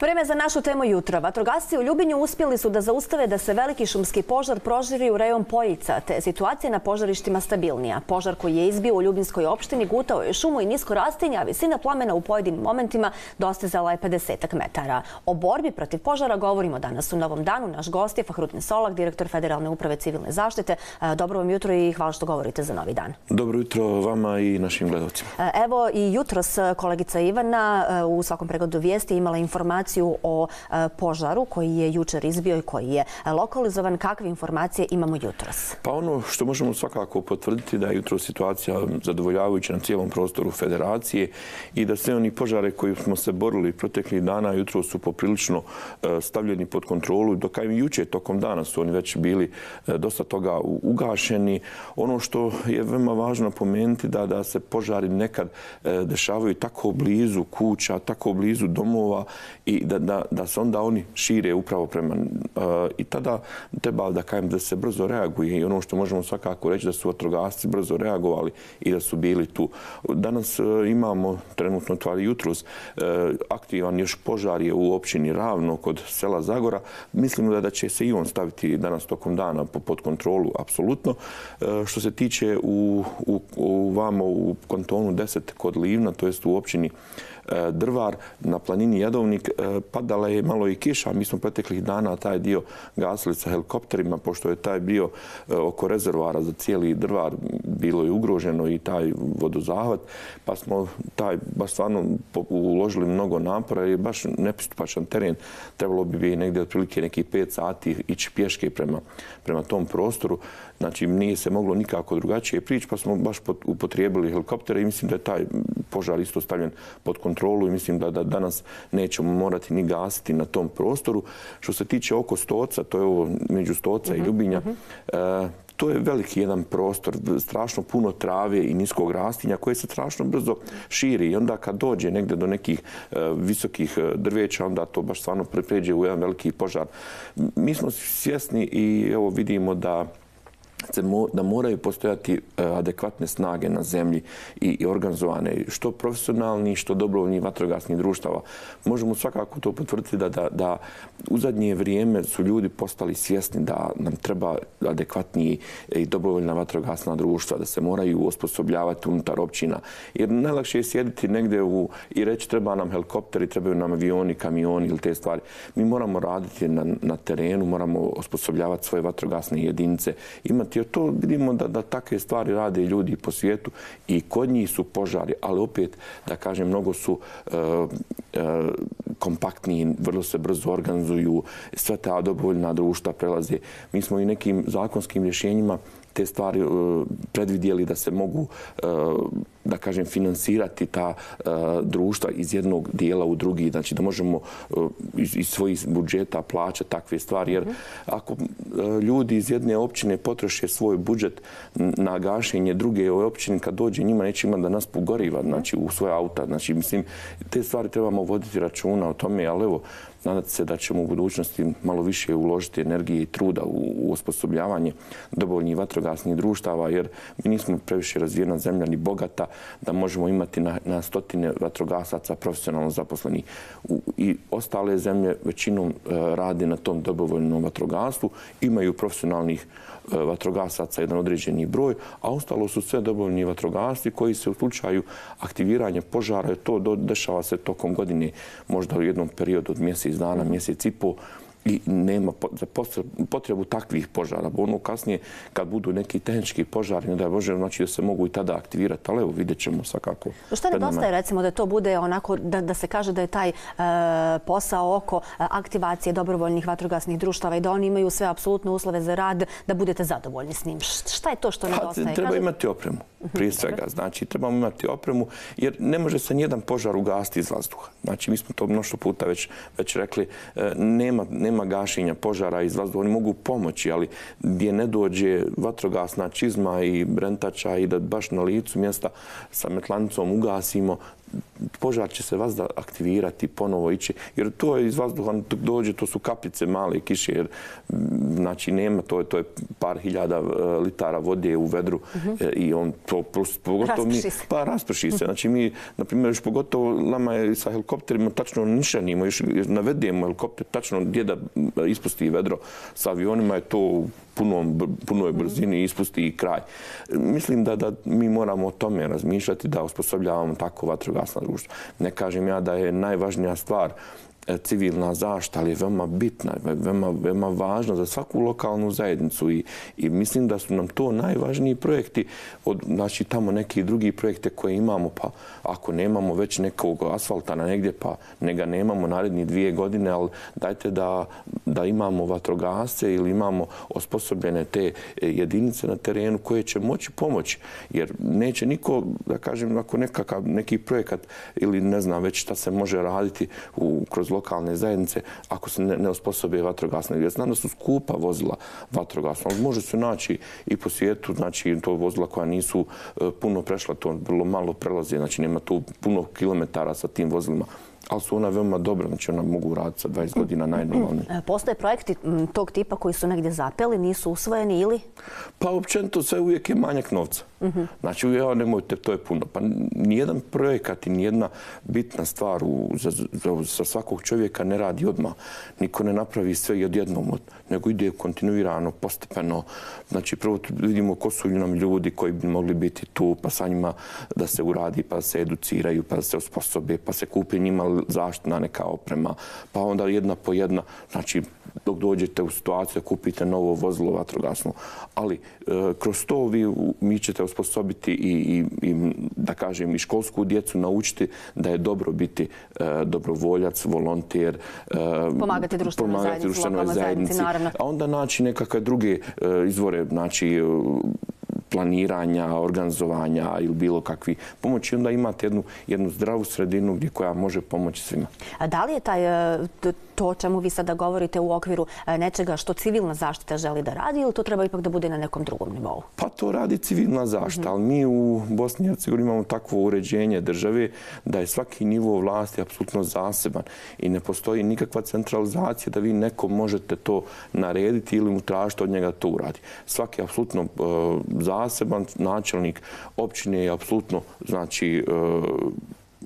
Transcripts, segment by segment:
Vreme za našu temu jutra. Vatrogasci u Ljubinju uspjeli su da zaustave da se veliki šumski požar proširi u rejon Poljica, te je situacija na požarištima stabilnija. Požar koji je izbio u Ljubinskoj opštini gutao je šumu i nisko rastinje, a visina plamena u pojedinim momentima dostizala je 50 metara. O borbi protiv požara govorimo danas u Novom danu. Naš gost je Fahrudin Solak, direktor Federalne uprave civilne zaštite. Dobro vam jutro i hvala što govorite za Novi dan. Dobro jutro vama i našim gledalcima. Evo i jutros kolegica Ivana u svakom pregledu vijesti imala informaciju o požaru koji je jučer izbio i koji je lokalizovan. Kakve informacije imamo jutros? Pa ono što možemo svakako potvrditi da je jutros situacija zadovoljavajuća na cijelom prostoru federacije i da sve oni požare koji smo se borili proteklih dana jutros su poprilično stavljeni pod kontrolu. Dok i jučer tokom dana su oni već bili dosta toga ugašeni. Ono što je veoma važno napomenuti da se požari nekad dešavaju tako blizu kuća, tako blizu domova i da se onda oni šire upravo prema... I tada treba da se brzo reaguje i ono što možemo svakako reći da su vatrogasci brzo reagovali i da su bili tu. Danas imamo trenutno, ali jutros, aktivan još požar je u općini Ravno kod sela Zagora. Mislimo da će se i on staviti danas tokom dana pod kontrolu, apsolutno. Što se tiče vamo u kantonu 10 kod Livna, to jest u općini Drvar na planini Jadovnik, padala je malo i kiša. Mi smo proteklih dana taj dio gasili sa helikopterima, pošto je taj bio oko rezervoara za cijeli Drvar bilo je ugroženo i taj vodozahvat, pa smo baš stvarno uložili mnogo napora jer je baš nepristupačan teren. Trebalo bi negdje otprilike nekih 5 sati ići pješke prema tom prostoru. Znači, nije se moglo nikako drugačije prići, pa smo baš upotrijebili helikoptere i mislim da je taj požar isto stavljen pod kontrolu i mislim da danas nećemo morati ni gasiti na tom prostoru. Što se tiče oko Stoca, to je ovo među Stoca i Ljubinja, to je veliki jedan prostor, strašno puno trave i niskog rastinja koje se strašno brzo širi i onda kad dođe negdje do nekih visokih drveća, onda to baš stvarno pređe u jedan veliki požar. Mi smo svjesni i evo vidimo da moraju postojati adekvatne snage na zemlji i organizovane, što profesionalni, što dobrovoljni vatrogasnih društava. Možemo svakako to potvrditi da u zadnje vrijeme su ljudi postali svjesni da nam treba adekvatniji i dobrovoljna vatrogasna društva, da se moraju osposobljavati unutar općina. Jer najlakše je sjediti negdje i reći treba nam helikopteri, trebaju nam avioni, kamioni ili te stvari. Mi moramo raditi na terenu, moramo osposobljavati svoje vatrogasne jedinice, imati. Jer to vidimo da takve stvari rade ljudi po svijetu i kod njih su požari, ali opet, da kažem, mnogo su kompaktniji, vrlo se brzo organizuju, sve ta dobrovoljna društva prelaze. Mi smo i nekim zakonskim rješenjima te stvari predvidjeli da se mogu, da kažem, finansirati ta društva iz jednog dijela u drugi, znači da možemo iz svojih budžeta plaćati takve stvari, jer ako ljudi iz jedne općine potroše svoj budžet na gašenje druge općine, kad dođe njima neće imati da nas pogoriva, znači u svoje auta, znači mislim, te stvari trebamo voditi računa o tome, ali evo, nadati se da ćemo u budućnosti malo više uložiti energije i truda u osposobljavanje dobrovoljnih vatrogasnih društava, jer mi nismo previše razvijena zemlja ni bogata da možemo imati na stotine vatrogasaca profesionalno zaposlenih. I ostale zemlje većinom rade na tom dobrovoljnom vatrogastvu, imaju profesionalnih vatrogasaca jedan određeni broj, a ostalo su sve dobrovoljni vatrogasci koji se u slučaju aktiviranja požara, to dešava se tokom godine, možda u jednom periodu od mjesec dana, mjesec i pol, i nema potrebu takvih požara. Ono kasnije, kad budu neki tehnički požari, ne daj Bože, znači da se mogu i tada aktivirati, ali evo, vidjet ćemo svakako. Što nedostaje, recimo, da to bude onako, da se kaže da je taj posao oko aktivacije dobrovoljnih vatrogasnih društava i da oni imaju sve apsolutne uslove za rad, da budete zadovoljni s njim? Šta je to što nedostaje? Treba imati opremu, prije svega. Znači, trebamo imati opremu, jer ne može se nijedan požar ugasiti iz vazduha. Znači, mi smo to mnoštvo puta već rekli, nema gašenja požara iz vazduha. Oni mogu pomoći, ali gdje ne dođe vatrogasna čizma i brentača i da baš na licu mjesta sa metlanicom ugasimo, požar će se vazda aktivirati, ponovo ići, jer to je iz vazduha, dok dođe, to su kapljice male kiše, jer znači nema, to je par hiljada litara vode u vedru i on to pogotovo pa rasprši se. Znači mi, na primjer, još pogotovo nama je sa helikopterima tačno nišanimo, još navedemo helikopter tačno gdje da ispusti vedro. Sa avionima je to u punoj brzini ispusti i kraj. Mislim da mi moramo o tome razmišljati, da osposobljavamo tako vatrogasna društva. Ne kažem ja da je najvažnija stvar civilna zaštita, ali je veoma bitna, veoma važna za svaku lokalnu zajednicu i mislim da su nam to najvažniji projekti od, znači, tamo neki drugi projekte koje imamo, pa ako nemamo već nekog asfalta na negdje, pa ne ga nemamo naredni 2 godine, ali dajte da imamo vatrogasce ili imamo osposobljene te jedinice na terenu koje će moći pomoći, jer neće niko, da kažem, ako neki projekat ili ne znam već šta se može raditi kroz lokalne zajednice, ako se ne osposobe vatrogasne. Ja znam da su skupa vozila vatrogasna, ali može se naći i po svijetu, znači to vozila koja nisu puno prešla, to vrlo malo prelaze, znači nema tu puno kilometara sa tim vozilima, ali su ona veoma dobra, znači ona mogu raditi sa 20 godina najnormalnije. Postoje projekti tog tipa koji su negdje zapeli, nisu usvojeni ili? Pa općenito sve uvijek je manjak novca. Znači, nemojte, to je puno. Pa nijedan projekat i nijedna bitna stvar za svakog čovjeka ne radi odmah. Niko ne napravi sve odjednom, nego ide kontinuirano, postepeno. Znači, prvo vidimo ko su nam ljudi koji bi mogli biti tu, pa sa njima da se uradi, pa da se educiraju, pa da se osposobe, pa se kupi njima zaštitna neka oprema, pa onda jedna po jedna. Znači, dok dođete u situaciju da kupite novo vozilo vatrogasno. Ali kroz to mi ćete osposobiti i da kažem, i školsku djecu naučiti da je dobro biti dobrovoljac, volonter, pomagati društvenoj zajednici, naravno. A onda naći nekakve druge izvore, znači planiranja, organizovanja ili bilo kakvi pomoći. Onda imate jednu zdravu sredinu koja može pomoći svima. A da li je to o čemu vi sada govorite u okviru nečega što civilna zaštita želi da radi ili to treba ipak da bude na nekom drugom nivou? Pa to radi civilna zaštita, ali mi u Bosni i Hercegovini imamo takvo uređenje države da je svaki nivo vlasti apsolutno zaseban i ne postoji nikakva centralizacija da vi nekom možete to narediti ili mu tražiti od njega to uradi. Svaki je apsolutno zaseban, načelnik općine je apsolutno, znači,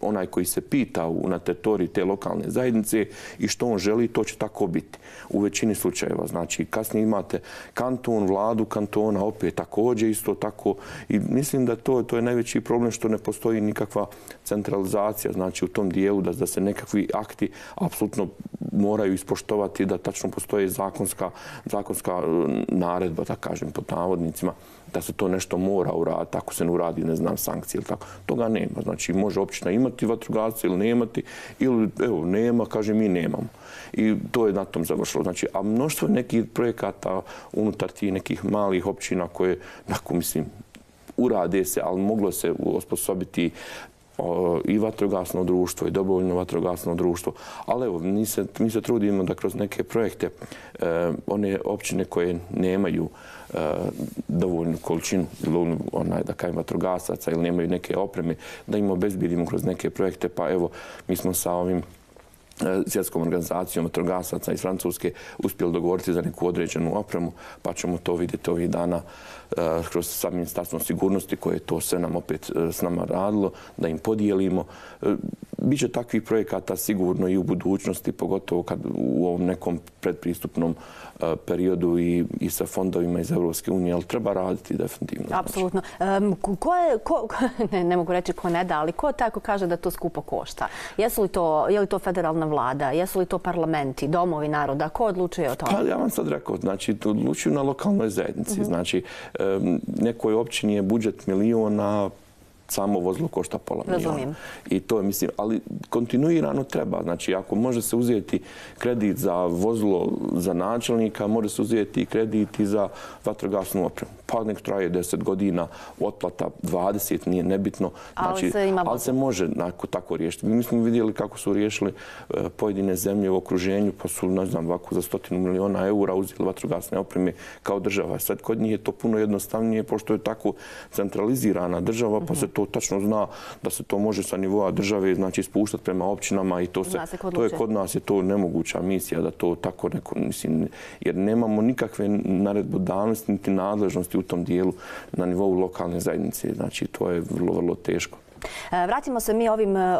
onaj koji se pita na teritoriji te lokalne zajednice i što on želi, to će tako biti u većini slučajeva. Znači, kasnije imate kanton, vladu kantona, opet također isto tako. I mislim da to je najveći problem što ne postoji nikakva centralizacija, znači u tom dijelu da se nekakvi akti apsolutno moraju ispoštovati, da tačno postoji zakonska naredba, da kažem, pod navodnicima, da se to nešto mora uraditi, ako se ne uradi, ne znam, sankcije ili tako. Toga nema. Znači, može općina imati vatrogasce ili nemati, ili evo, nema, kaže, mi nemamo. I to je na tom završilo. Znači, a mnoštvo nekih projekata unutar tih nekih malih općina koje, nakon, mislim, urade se, ali moglo se osposobiti i vatrogasno društvo i dobrovoljno vatrogasno društvo. Ali evo, mi se trudimo da kroz neke projekte one općine koje nemaju dovoljnu količinu, da kažem, vatrogasaca ili nemaju neke opreme, da im obezbijedimo kroz neke projekte. Pa evo, mi smo sa ovim svjetskom organizacijom vatrogasaca iz Francuske uspjeli dogovoriti za neku određenu opremu, pa ćemo to vidjeti ovih dana kroz sa Ministarstvom sigurnosti koje to sve nam opet s nama radilo, da im podijelimo. Biće takvih projekata sigurno i u budućnosti, pogotovo kad u ovom nekom predpristupnom periodu i sa fondovima iz Europske unije, ali treba raditi definitivno. Apsolutno. Ne mogu reći ko ne da, ali ko tako kaže da to skupo košta? Je li to federalna vlada? Jesu li to parlamenti, domovi naroda? Ko odlučuje o tome? Pa ja vam sad rekao, znači odlučuju na lokalnoj zajednici. Znači, nekoj općini je budžet miliona, samo vozilo košta pola miliona. I to je, mislim, ali kontinuirano treba. Znači, ako može se uzeti kredit za vozilo za načelnika, može se uzeti i kredit i za vatrogasnu opremu. pa nek traje 10 godina, otplata 20, nije nebitno. Ali se može tako riješiti. Mi smo vidjeli kako su riješili pojedine zemlje u okruženju, pa su, ne znam, ovako za 100 miliona eura uzeli vatrogasne opreme kao država. Sad kod njih je to puno jednostavnije, pošto je tako centralizirana država, pa se to tačno zna da se to može sa nivoa države, znači, spuštati prema općinama i to je kod nas je to nemoguća misija da to tako neko, mislim, jer nemamo nikakve naredbodavnosti niti nadležnosti u tom dijelu na nivou lokalne zajednice. Znači, to je vrlo, vrlo teško. Vratimo se mi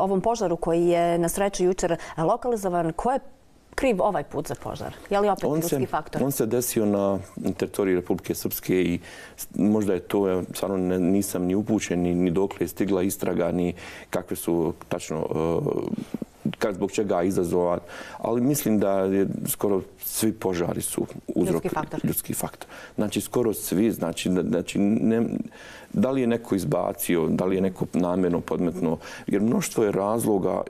ovom požaru koji je na sreću jučer lokalizovan. Ko je kriv ovaj put za požar? Je li opet ljudski faktor? On se desio na teritoriji Republike Srpske i možda je to, stvarno nisam ni upućen, ni dokle je stigla istraga, ni kakve su tačno zbog čega izazova, ali mislim da je skoro svi požari su uzrok ljudski faktor. Znači, skoro svi, znači, da li je neko izbacio, da li je neko namjerno podmetno, jer mnoštvo je razloga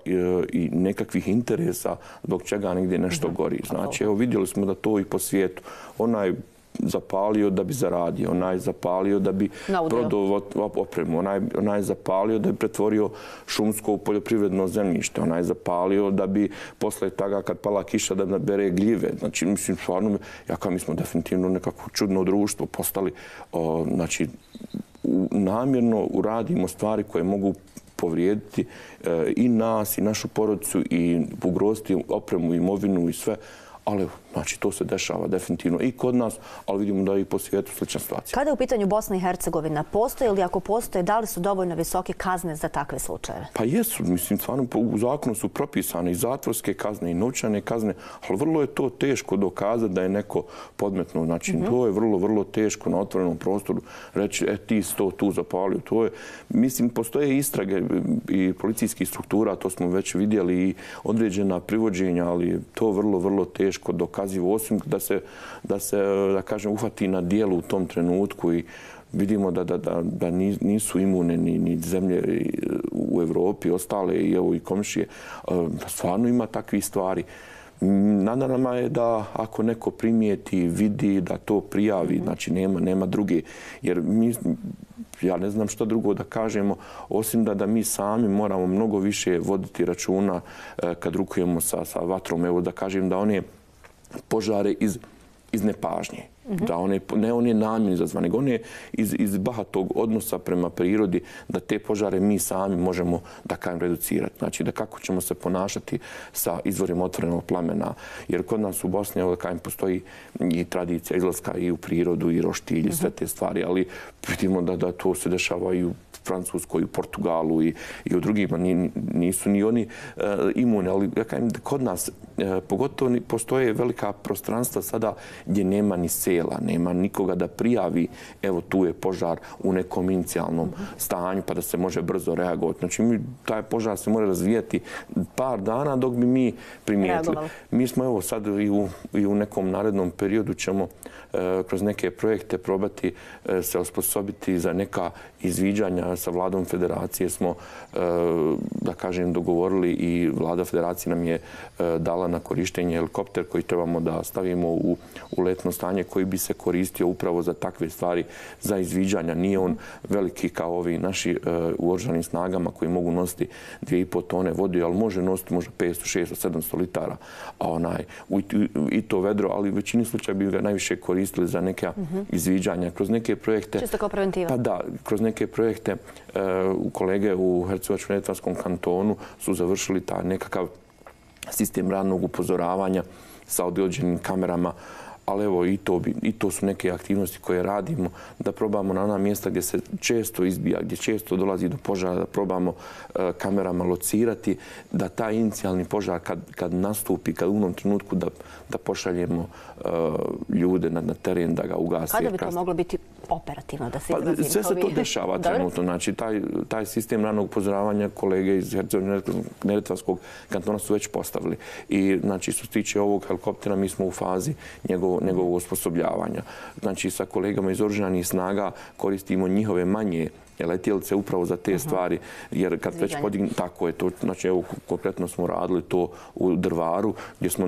i nekakvih interesa zbog čega negdje nešto gori. Znači, evo, vidjeli smo da to i po svijetu. Onaj zapalio da bi zaradio, onaj zapalio da bi prodao opremu, onaj zapalio da bi pretvorio šumsko u poljoprivredno zemljište, onaj zapalio da bi posle toga kad pala kiša da bere gljive. Znači, mislim, stvarno, mi smo definitivno nekako čudno društvo postali, znači, namjerno uradimo stvari koje mogu povrijediti i nas, i našu porodicu, i ugroziti opremu, imovinu i sve. Ali, znači, to se dešava definitivno i kod nas, ali vidimo da je i po svijetu slična situacija. Kada je u pitanju Bosna i Hercegovina, postoje ili ako postoje, da li su dovoljno visoke kazne za takve slučajeve? Pa jesu, mislim, stvarno u zakonu su propisane i zatvorske kazne i novčane kazne, ali vrlo je to teško dokazati da je neko podmetno. Znači, to je vrlo, vrlo teško na otvorenom prostoru reći, ti si to tu zapalio. To je, mislim, postoje istrage i policijskih struktura, to smo već vidjeli, i određena privođenja, ali to vrlo, vrlo teško dokazivo, osim da se, da kažem, uhvati na dijelu u tom trenutku i vidimo da nisu imune ni zemlje u Evropi, ostale i evo i komšije. Stvarno ima takvih stvari. Na nama je da ako neko primijeti, vidi, da to prijavi, znači nema druge. Jer ja ne znam što drugo da kažemo, osim da mi sami moramo mnogo više voditi računa kad rukujemo sa vatrom. Evo da kažem da one požare iz nepažnje. Da ne one namjerno izazvane, nego one iz bahatog odnosa prema prirodi, da te požare mi sami možemo, da kažem, reducirati. Znači, da kako ćemo se ponašati sa izvorima otvorenog plamena. Jer kod nas u Bosni, da kažem, postoji i tradicija izlaska i u prirodu, i roštilj, i sve te stvari, ali vidimo da to se dešava i u Francuskoj, u Portugalu i u drugima. Nisu ni oni imuni, ali ja kažem, kod nas pogotovo postoje velika prostranstva sada gdje nema ni sela, nema nikoga da prijavi, evo tu je požar u nekom inicijalnom stanju pa da se može brzo reagovati. Znači, taj požar se može razvijati par dana dok bi mi primijetili. Mi smo evo sad i u nekom narednom periodu ćemo kroz neke projekte probati se osposobiti za neka izviđanja. Sa vladom federacije smo, da kažem, dogovorili i vlada federacije nam je dala na korištenje helikopter koji trebamo da stavimo u letno stanje koji bi se koristio upravo za takve stvari, za izviđanja. Nije on veliki kao ovi naši u oružanim snagama koji mogu nositi 2,5 tone vode, ali može nositi možda 500, 600, 700 litara. I to vedro, ali u većini slučaja bi ga najviše koristili za neka izviđanja. Kroz neke projekte... Čisto kao preventiva. Pa da, kroz neke projekte kolege u Hercegovačko-neretvanskom kantonu su završili taj nekakav sistem ranog upozoravanja sa određenim kamerama, ali evo i to su neke aktivnosti koje radimo, da probamo na ona mjesta gdje se često izbija, gdje često dolazi do požara, da probamo kamerama locirati, da taj inicijalni požar kad nastupi, kad u onom trenutku da pošaljemo ljude na teren da ga ugasi. Kada bi to moglo biti operativno, da se izrazim? Sve se to dešava trenutno. Znači, taj sistem ranog upozoravanja kolege iz Hercegovačko-neretvanskog kantona su već postavili. I, znači, što se tiče ovog helikoptera, mi smo u fazi njegovog osposobljavanja. Znači, sa kolegama iz oružanih snaga koristimo njihove manje letjelice upravo za te stvari, jer kad već podigne, tako je to, znači evo konkretno smo radili to u Drvaru, gdje smo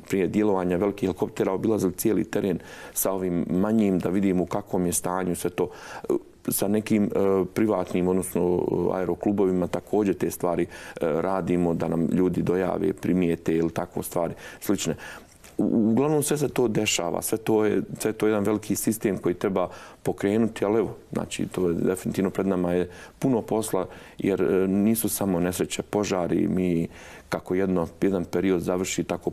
prije djelovanja velikih helikoptera obilazili cijeli teren sa ovim manjim, da vidimo u kakvom je stanju sve to. Sa nekim privatnim, odnosno aeroklubovima također te stvari radimo, da nam ljudi dojave, primijete ili takve stvari slične. Uglavnom sve se to dešava, sve to je jedan veliki sistem koji treba pokrenuti, ali evo, znači to je definitivno pred nama je puno posla, jer nisu samo nesreće, požari, mi kako jedan period završi, tako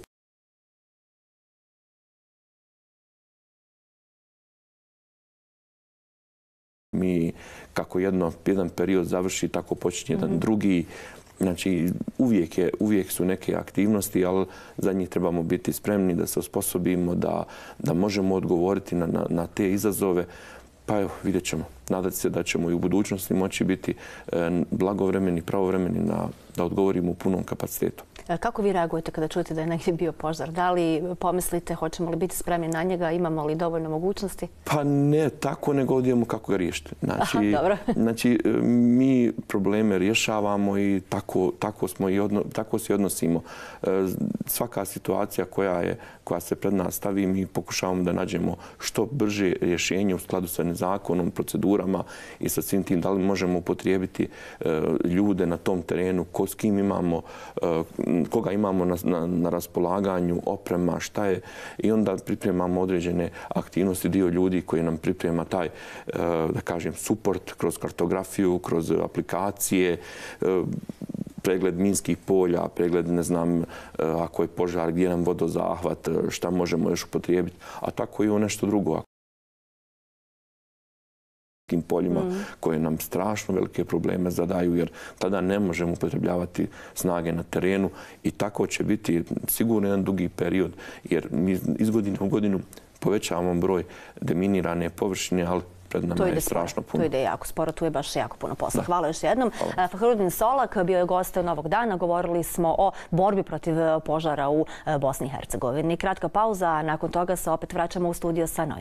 jedan period završi, tako počinje jedan drugi. Znači, uvijek su neke aktivnosti, ali za njih trebamo biti spremni da se osposobimo, da možemo odgovoriti na te izazove. Pa evo, vidjet ćemo. Nadati se da ćemo i u budućnosti moći biti blagovremeni, pravovremeni da odgovorimo u punom kapacitetu. Kako vi reagujete kada čujete da je negdje bio požar? Da li pomislite hoćemo li biti spremni na njega, imamo li dovoljno mogućnosti? Pa ne tako, nego odijemo kako ga riješiti. Znači, mi probleme rješavamo i tako se odnosimo. Svaka situacija koja se pred nas stavi, mi pokušavamo da nađemo što brže rješenje u skladu sa zakonom, procedurama i sa svim tim. Da li možemo upotrijebiti ljude na tom terenu, s kim imamo, koga imamo na raspolaganju, oprema, šta je. I onda pripremamo određene aktivnosti, dio ljudi koji nam priprema taj, da kažem, suport kroz kartografiju, kroz aplikacije, pregled minskih polja, pregled, ne znam, ako je požar, gdje nam vodozahvat, šta možemo još upotrijebiti, a tako i o nešto drugo. Poljima koje nam strašno velike probleme zadaju, jer tada ne možemo upotrebljavati snage na terenu i tako će biti sigurno jedan dugi period, jer mi iz godine u godinu povećavamo broj deminirane površine, ali pred nama je strašno puno. To ide jako sporo, tu je baš jako puno posla. Hvala još jednom. Fahrudin Solak bio je gost Novog dana. Govorili smo o borbi protiv požara u Bosni i Hercegovini. Kratka pauza, a nakon toga se opet vraćamo u studio sa novim.